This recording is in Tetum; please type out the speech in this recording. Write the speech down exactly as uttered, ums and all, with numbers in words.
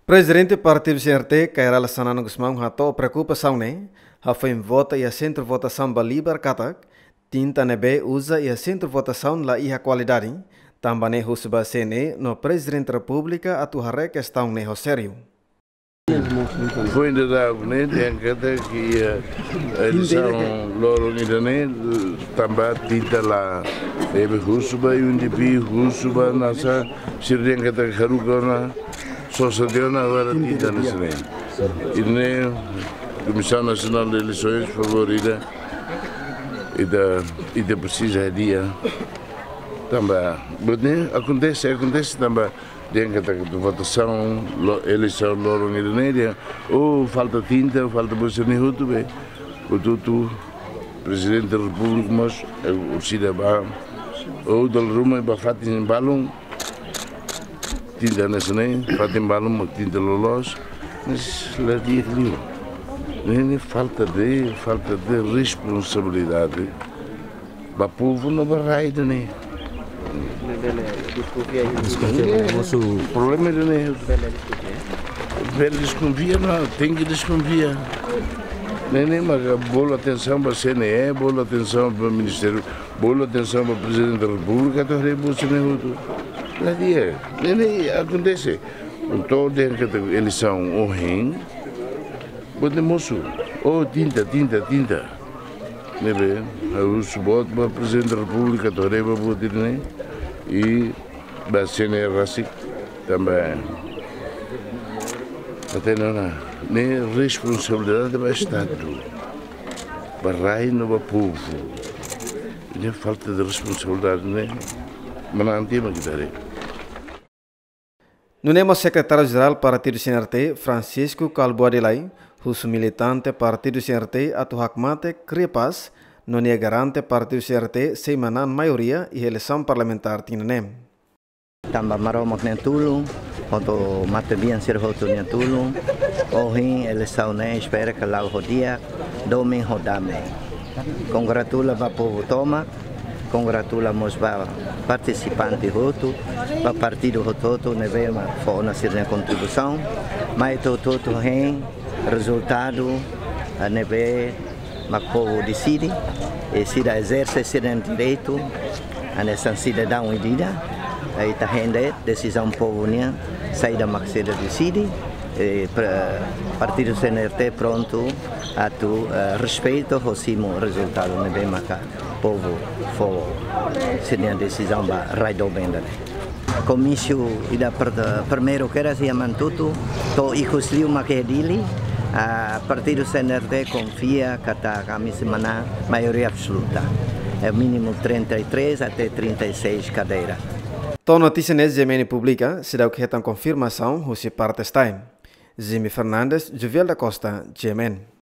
Prezidente Partidu C N R T, Kay Rala Xanana Gusmão, hato'o preokupasaun ne'e, hafoin vota iha sentru votasaun ba libar katak tinta ne'ebé uza iha sentru votasaun la iha kualidade, tanba ne'e husu ba C N E no Prezidente Repúblika atu haree kestaun ne'e ho sériu. Foin daudauk ne'e, dehan katak iha eleisaun loron ida-ne'e, tanba tinta la, ne'ebé husu ba U N D P, husu ba nasa, sira dehan katak haruka ona, sosa tiha ona, agora tinta ne'e sira-ne'e. Ida-ne'e, Comissão Nacional de Eleições, favór ida, ita, ita presiza hadi'a. Tanba, buat ne'e akontese, akontese tanba dehan katak votasaun, lo-, eleisaun loron ida-ne'e dehan, oh, falta tinta, falta buat sira-ne'e hotu be. Hotu-hotu, Prezidente Repúblika mós, eh, orsida ba, oh, dala ruma ba fatin balun, tinta ne'e sira-ne'e, fatin balun mak tinta loloos, mas la di'ak liu. Ne'e, ne'e falta de, falta de responsabilidade ba povu no ba rai ida-ne'e. Ne'e bele deskonfia iha. Deskonfia, eh, mosu. Problema ida-ne'e. Bele deskonfia. Bele deskonfia, não, tenke deskonfia. Ne'e, ne'e, mas bolu atensaun ba C N E, bolu atensaun ba Ministériu, bolu atensaun ba Prezidente da Repúblika, atu haree buat sira-ne'e hotu. La di'ak, ne'e, ne'e akontese. Entaun, dehan katak eleisaun ohin, buat ne'e mosu. Oh, tinta, tinta, tinta. Ne'ebé, ha'u husu boot ba Prezidente da Repúblika, atu haree ba buat ida-ne'e. I ba C N E rasik tanba, hatene ona, ne'e responsabilidade ba Estadu, ba rai no ba povu. Ne'e falta de responsabilidade ne'e, manán tiha mak ita haree. Nune'e mós Sekretáriu Jerál Partidu C N R T, Francisco Kalbuadi Lay, husu militante Partidu C N R T atu hakmatek, kria pás, no nia garante Partidu C N R T sei manán maioria iha eleisaun parlamentár tinan ne'e. Tanba Maromak nia tulun, hotu matebian sira hotu nia tulun. Ohin eleisaun ne'e espera katak la'o ho di'ak, domin ho dame. Kongratula ba povu tomak, kongratula mós ba partisipante hotu, ba partidu hotu-hotu ne'ebé mak fó ona sira-nia kontribuisaun, mai hotu-hotu hein rezultadu, eh, ne'ebé mak povu deside, i sira ezerse sira-nia direitu, hanesan sidadaun ida-idak, i ita hein de'it desizaun povu nian, saida mak sira deside, i pre-, Partidu C N R T prontu atu, eh, respeita ho simu rezultadu ne'ebé maka povu fó sira-nia desizaun ba rai doben ida-ne'e. Komísiu ida per-, primeiru kedas iha Manatuto, to'o ikus liu mak iha Dili, ah, Partidu C N R T konfia katak ami sei manán maioria absoluta. É mínimo trinta e três até trinta e seis cadeira. To'o notísia ne'e G M N publika, seidauk hetan konfirmasaun husi parte STAE. Jimmy Fernandes, Jovial da Costa, G M N.